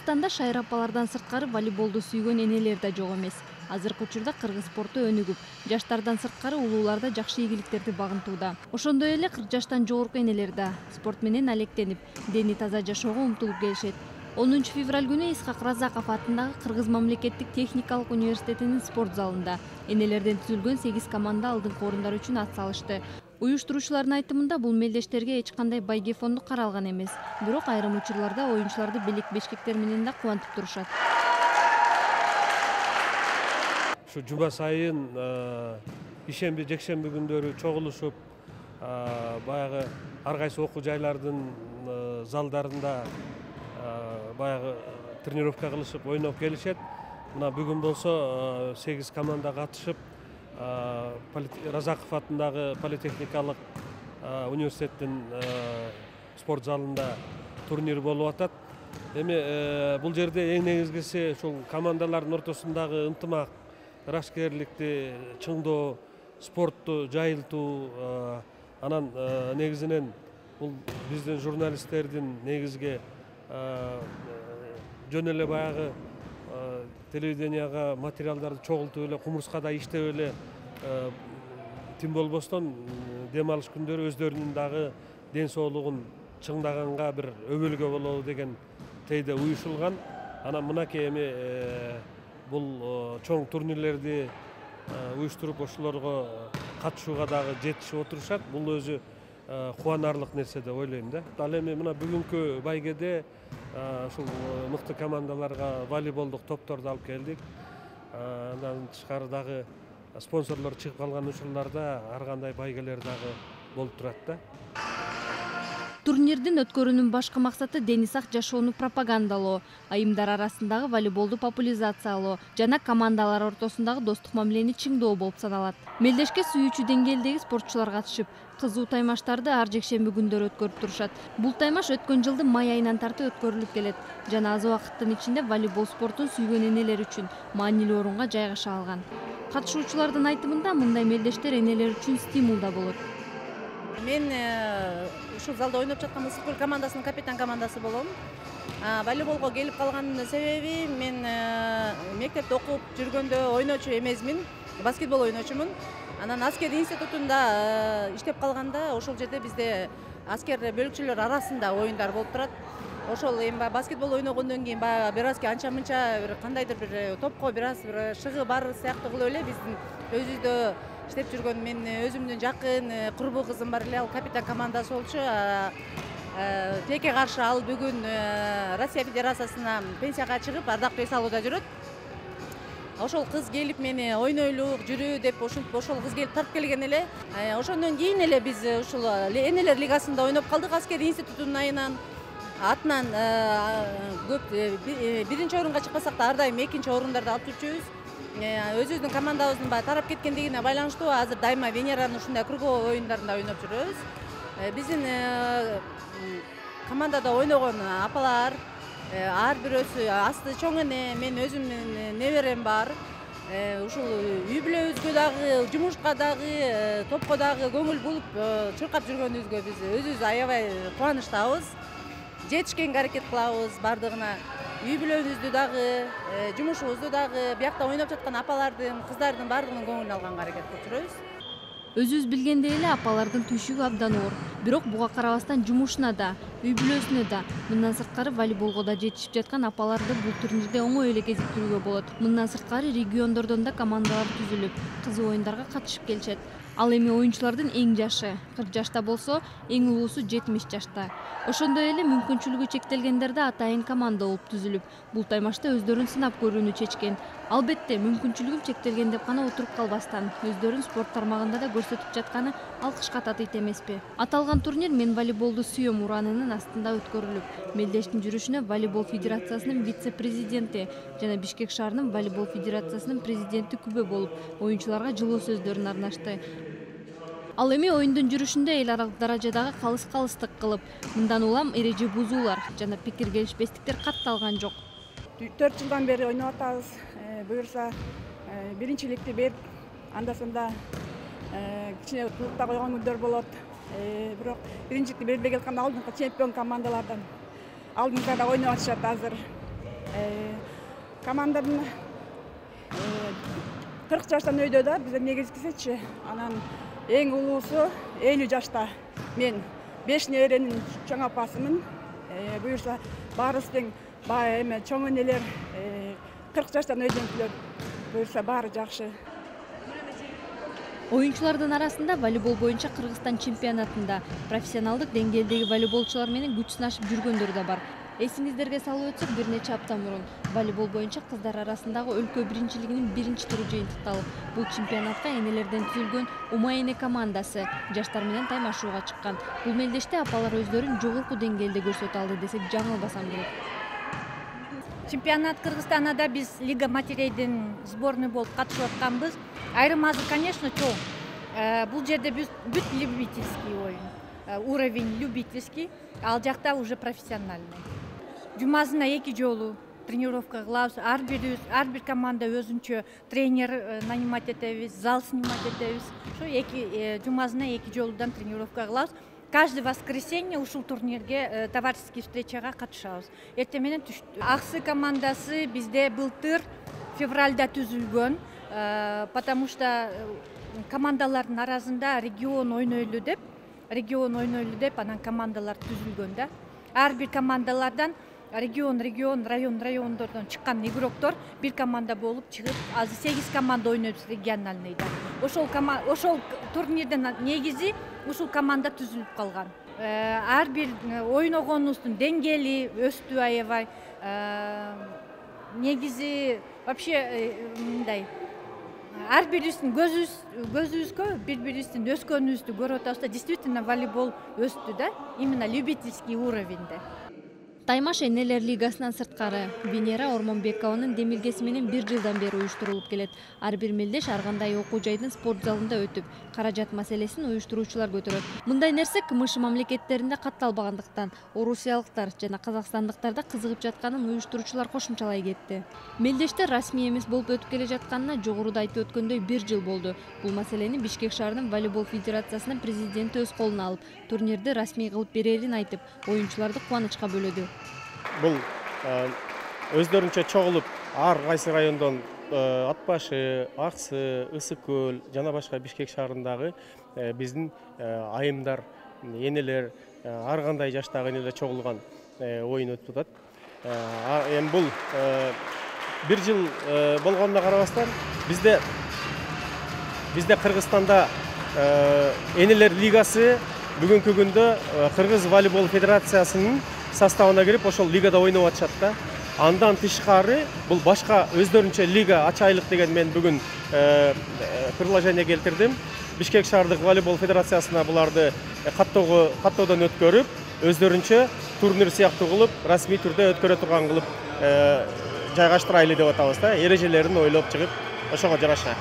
Кыргызстанда шайыр апалардан сырткары волейболду сүйгөн энелер да жок эмес. Азыркы учурда кыргыз спорту өнүгүп, жаштардан сырткары улуулар да жакшы ийгиликтерди багынтууда. Ошондой эле 40 жаштан жогорку энелер да спорт менен алектенип, дени таза жашоого умтулуп келишет. 10 февраль күнү Исхак Разаков атындагы Кыргыз мамлекеттик техникалык университетинин спорт залында энелерден түзүлгөн 8 команда алдыңкы орундар үчүн ат салышты. Уюштуруучулардын айтымында бул мелдештерге эч кандай байге фонду каралган эмес. Бирок айрым учурларда оюнчуларды белек бешкектер менен да кубантып турушат. Ушу жума сайын ишемби, жекшемби күндөрү чогулушуп, баягы ар кайсы окуу жайлардын залдарында баягы тренировка кылышып, ойноп келишет. Мына бүгүн болсо 8 команда катышып, Разаков атындагы политехникалык университеттин спорт залында турнир болуп атат. Эми бул жерде эң негизгиси ушул командалардын ортосундагы ынтымак, ырашкерликти чыңдоо, спортту жайылтуу, анан негизинен бул биздин журналисттердин негизги жөн эле баягы телевиденияга материалдарды чогултуп эле, кумурскада иштеп эле тим болбостон дем алыш күндөрү өздөрүнүн дагы ден соолугун чыңдаганга бир өбөлгө болобу деген тейде уюшулган. Анан мынакей эми бул чоң турнирлерди уюштуруп ошолорго катышууга дагы жетишип отурушат. Бул өзү кубанарлык нерсе деп ойлойм да. Ал эми мына бүгүнкү байгеде ушул мыкты командаларга волейболдук топторду алып келдик. Андан тышкары дагы спонсорлор чыгып калган учурларда ар кандай байгелер дагы болуп турат да. Турнирдин өткөрүүнүн башкы максаты дени сак жашоону пропагандалоо, айымдар арасындагы волейболду популяризациялоо жана командалар ортосундагы достук мамилени чыңдоо болуп саналат. Мелдешке сүйүүчү деңгээлдеги спортчулар катышып, кызуу таймаштарды ар жекшемби күндөрү өткөрүп турушат. Бул таймаш өткөн жылдын май айынан тартып өткөрүлүп келет. Жана аз убакыттын ичинде волейбол спортун сүйгөн энелер үчүн маанилүү орунга жайгаша алган. Катышуучулардын айтымында мындай мелдештер энелер үчүн стимул да болот. Мен ушул залда ойноп жаткан Мысыккөл командасынын капитан командасы болом. Волейболго келип калган себеби мен мектепте окуп жүргөндө ойночу эмесмин, баскетбол ойночумун. Анан аскер институтунда иштеп калганда ошол жерде бизде аскер бөлүкчүлөр арасында оюндар болуп турат. Ошол эми баскетбол ойногондон кийин баягы бир азки анча-мынча бир кандайдыр бир топко бир аз бир шыгы бар сыяктуу кылып эле биздин өзүбүздө иштеп жүргөн мен өзүмдүн жакын курбу кызым бар эле, ал капитан командасы болчу. Тилекке каршы ал бүгүн Россия Федерациясына пенсияга чыгып, ардактуу эс алууда жүрөт. Ошол кыз келип мени ойнойлук, жүрү деп ошол кыз келип тартып келген эле. Ошондон кийин эле биз ушул энелер лигасында ойноп калдык аскери институтунун атынан көп биринчи орунга чыкпасак да ар дайым экинчи орундарды алып жүрчүбүз. Өзүбүздүн командабыздын тарап кеткендигине байланыштуу азыр дайыма Венеранын ушундай круговой оюндарында ойноп жүрөбүз. Биздин командада ойногон апалар ар бирөөсү асты чоң эне, мен өзүмдүн неберем бар. Ушул үй бүлөбүзгө дагы, жумушка дагы, топко дагы көңүл булуп чуркап жүргөнүбүзгө биз өзүбүз аябай кубанычтабыз. Жетишкенге аракет кылабыз бардыгына. Үй бүлөбүздү дагы, жумушубузду дагы, биякта ойноп жаткан апалардын, кыздардын бардыгынын көңүлүн алганга аракет кылып жүрөбүз. Өзүбүз билгендей эле апалардын түйшүгү абдан оор. Бирок буга карабастан жумушуна да, үй бүлөсүнө да, мындан сырткары волейболго да жетишип жаткан апаларды бул турнирде оңой эле кезиктирүүгө болот. Мындан сырткары региондордон да командалар түзүлүп, кызуу оюндарга катышып келишет. Ал эми оюнчулардын эң жашы 40 жашта болсо, эң улуусу 70 жашта. Ошондой эле мүмкүнчүлүгү чектелгендер да атайын команда болуп түзүлүп, бул таймашта өздөрүн сынап көрүүнү чечкен. Албетте, мүмкүнчүлүгүм чектелген деп гана отуруп калбастан, өздөрүн спорт тармагында да көрсөтүп жатканы алкышка татыйт эмеспи. Аталган турнир «Мен волейболду сүйөм» ураанынын астында өткөрүлүп, мелдештин жүрүшүнө волейбол федерациясынын вице-президенти жана Бишкек шаарынын волейбол федерациясынын президенти күбө болуп, оюнчуларга жылуу сөздөрүн арнашты. Ал эми оюндун жүрүшүндө эл аралык даражадагы калыс-калыстык кылып, мындан улам эреже бузуулар жана пикир келишпестиктер катталган жок. 4 жылдан бери ойноп атабыз. Буюрса биринчиликти берип, анда-санда кичине клубда койгон күндөр болот. Бирок биринчиликти бербей келаткан алдыңкы чемпион командалардан алдыңкыда ойноп атышат азыр. Команданын 40 жаштан өйдө да, бизден негизгисичи. Анан эң улуусу 50 жашта. Мен 5 неберенин чоң апасымын. Буюрса баарыбыз тең эме чоң энелер 40 жаштан өйдөнкүлөр. Буюрса баары жакшы. Оюнчулардын арасында волейбол боюнча Кыргызстан чемпионатында профессионалдык деңгээлдеги волейболчулар менен күч сынашып жүргөндөр да бар. Эсиңиздерге салып өтсөк, бир нече апта мурун волейбол боюнча кыздар арасындагы өлкө биринчилигинин биринчи туру жыйынтыкталып, бул чемпионатка энелерден түзүлгөн Умай-эне командасы жаштар менен таймашууга чыккан. Бул мелдеште апалар өздөрүн жогорку деңгээлде көрсөтө алды десек жаңылбасам керек. Чемпионат Кыргызстанда биз Лига матерейдин сборной болуп катышып атканбыз. Айрым азыр, конечно, чоң. Бул жерде бүт любительский оюн. Уровень любительский, ал жакта уже профессиональный. Жумасына 2 жолу тренировка кылабыз. Ар бир команда өзүнчө тренер нанимать этебиз, зал снимать этебиз. Ошо жумасына 2 жолудан тренировка кылабыз. Каждое воскресенье ушул турнирге товарищеский встречага катышабыз. Эртең менен Аксы командасы бизде былтыр февральда түзүлгөн, потому что командалардын арасында регион ойнойлу деп анан командалар түзүлгөн да. Ар бир командалардан райондордон чыккан игроктор бир команда болуп чыгып, азыр 8 команда ойнойбуз региональныйда. Ошол турнирдин негизи ушул команда түзүлүп калган. Ар бир ойногонубуздун деңгээли өстү аябай. Негизи вообще мындай ар бирибиздин көзүбүзгө бири-бирибиздин өскөнүбүздү көрүп атабыз да, действительно волейбол өстү да, именно любительский уровеньде. Таймаш энелер лигасынан сырткары Венера Ормонбекованын демилгеси менен 1 жылдан бери уюштурулуп келет. Ар бир мелдеш ар кандай окуу жайдын спорт залында өтүп, каражат маселесин уюштуруучулар көтөрөт. Мындай нерсе КМШ мамлекеттеринде катталбагандыктан орусиялыктар жана казакстандыктарда кызыгып жатканын уюштуруучулар кошумчалай кетти. Мелдештер расмий эмес болуп өтүп келе жатканына жогоруда айтып өткөндөй 1 жыл болду. Бул маселени Бишкек шаарынын волейбол федерациясынын президенти өз колуна алып, турнирди расмий кылып берерин айтып, оюнчуларды кубанычка бөлөдү. Бул өздөрүнчө чогулуп, ар кайсы райондон Ат башы, Аксы, Ысык көл жана башка Бишкек шаарындагы биздин айымдар, энелер, ар кандай жаштагы энелер чогулган оюн өтүп атат. Эми бул 1 жыл болгонуна карабастан бизде Кыргызстанда энелер лигасы бүгүнкү күндө Кыргыз волейбол федерациясынын составына кирип, ошол лигада ойноп атышат да. Андан тышкары бул башка өздөрүнчө лига ачайлык деген мен бүгүн предложение келтирдим. Бишкек шаардык волейбол федерациясына буларды каттоодон өткөрүп, өздөрүнчө турнир сыяктуу кылып, расмий түрдө өткөрө турган кылып жайгаштырайлы деп атабыз да. Эрежелерин ойлоп чыгып, ошого жараша.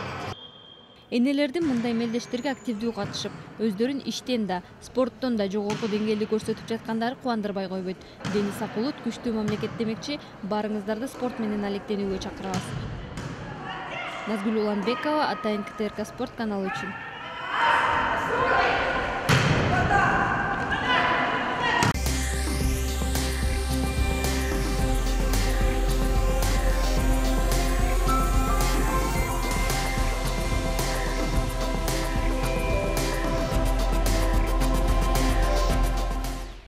Энелердин мындай мелдештерге активдүү катышып, өздөрүн иштен да, спорттон да жогорку деңгээлде көрсөтүп жаткандары кубандырбай койбойт. Денис Акулут күчтүү мамлекет демекчи, баарыңыздарды спорт менен алектенүүгө чакырабыз. Назгүл Уланбекова, Атайын КТРК спорт каналы үчүн.